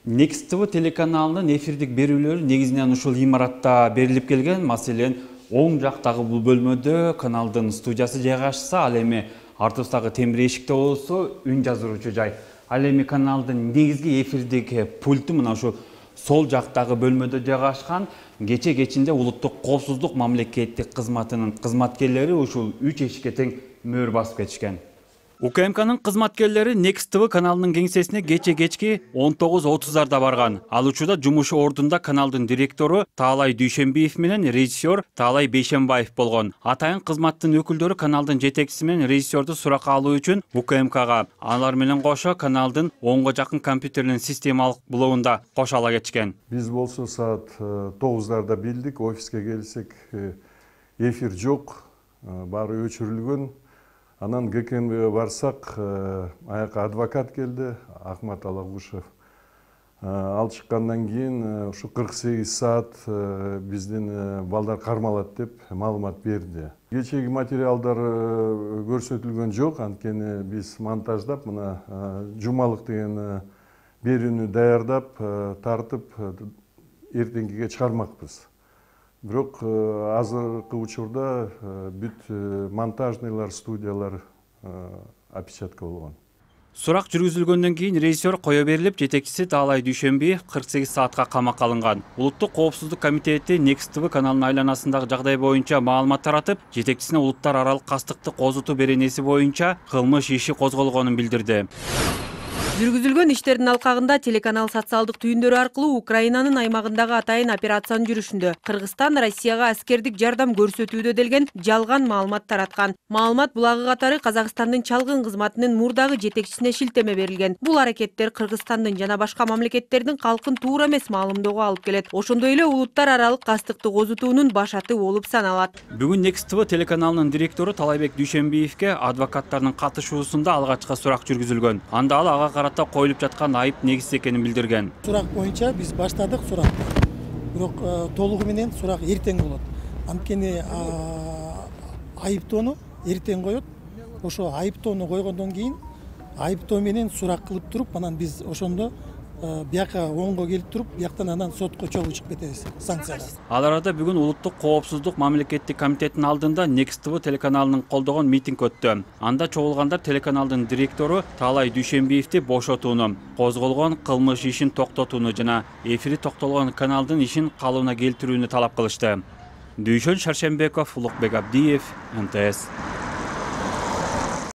Next TV телеканалынын эфирдик берүүлөрү негизинен ушул имаратта берилип келген. Маселен, оң жактагы бул бөлмөдө каналдын студиясы жайгашса, ал эми артыбыздагы темир эшикте болсо үн жаздыруучу жай. Ал эми каналдын негизги эфирдик пульту мына ушул сол жактагы бөлмөдө жайгашкан. Кечинде улуттук коопсуздук мамлекеттик кызматынын кызматкерлери ушул 3 эшикке тең мөр басып кетишкен. УКМКнын кызматкерлери Next TV каналынын кеңсесине кечки 19:30 барган. Ал учурда жумуш ордунда каналдын директору Таалай Дүйшөнбиев менен режиссер Таалай Бейшенбаев болгон. Атайын кызматтын өкүлдөрү каналдын жетекчиси менен режиссерду суракка алуу үчүн УКМКга, алар менен кошо каналдын 10го жакын компьютеринин системалык блогунда кошо ала кетишкен. Биз болсо саат 9:00 билдик, офиске келсек эфир жок, баары өчүрүлгөн. Анан ГКМБге барсак, аяка адвокат келди, Ахмат Алагушев. Ал чыккандан кийин ушу 48 саат биздин балдар кармалат деп маалымат берди. Кечеги материалдар көрсөтүлгөн жок, анткени биз монтаждап, мына жумалык деген берүүнү даярдап, тартып, эртеңкиге чыгармакпыз. Бирок азыркы учурда бүт монтажныйлар, студиялар опечатка болгон. Сурак жүргүзүлгөндөн кийин режиссер кое берилип, жетекчиси Таалай Дүйшөнбиев 48 саатка камакка алынган. Улуттук коопсуздук комитети Next TV каналынын айланасындагы жагдай боюнча маалымат таратып, жетекчисине улуттар аралык кастыкты козутуу беренеси боюнча кылмыш иши козголгонун билдирди. Жүргүзүлгөн иштердин алкагында телеканал социалдык түйүндөрү аркылуу Украинанын аймагындагы атайын операциянын жүрүшүндө Кыргызстан Россияга аскердик жардам көрсөтүүдө делген жалган маалымат тараткан. Маалымат булагы катары Казакстандын чалгын кызматынын мурдагы жетекчисине шилтеме берилген. Бул аракеттер Кыргызстандын жана башка мамлекеттердин калкын туура эмес маалымдоого алып келет. Ошондой эле улуттар аралык кастыкты козутуунун башаты болуп саналат. Бүгүн Next TV телеканалынын директору Таалайбек Дүйшөнбиевке адвокаттардын катышуусунда алгачкы сурак жүргүзүлгөн. Анда ал ага карата коюлуп жаткан айып негизсиз экенин билдирген. Сурак боюнча биз баштадык суракты. Бирок толугу менен сурак эртең болот. Анткени айыптоону эртең коет. Ошо айыптоону койгондон кийин айыптоо менен сурак кылып туруп, анан биз ошондо бияка оңго келип туруп, бияктан анан сотко чогуу чыгып кетебиз санкцияга. Ал арада бүгүн улуттук коопсуздук мамлекеттик комитетинин алдында Next TV телеканалынын колдогон митинг өттү. Анда чогулгандар телеканалдын директору Таалай Дүйшөнбиевди бошотууну, козголгон кылмыш ишин токтотууну жана эфири токтолгон каналдын ишин калыбына келтирүүнү талап кылышты. Дүйшөн Шаршембеков, Улукбек Абдиев, НТС.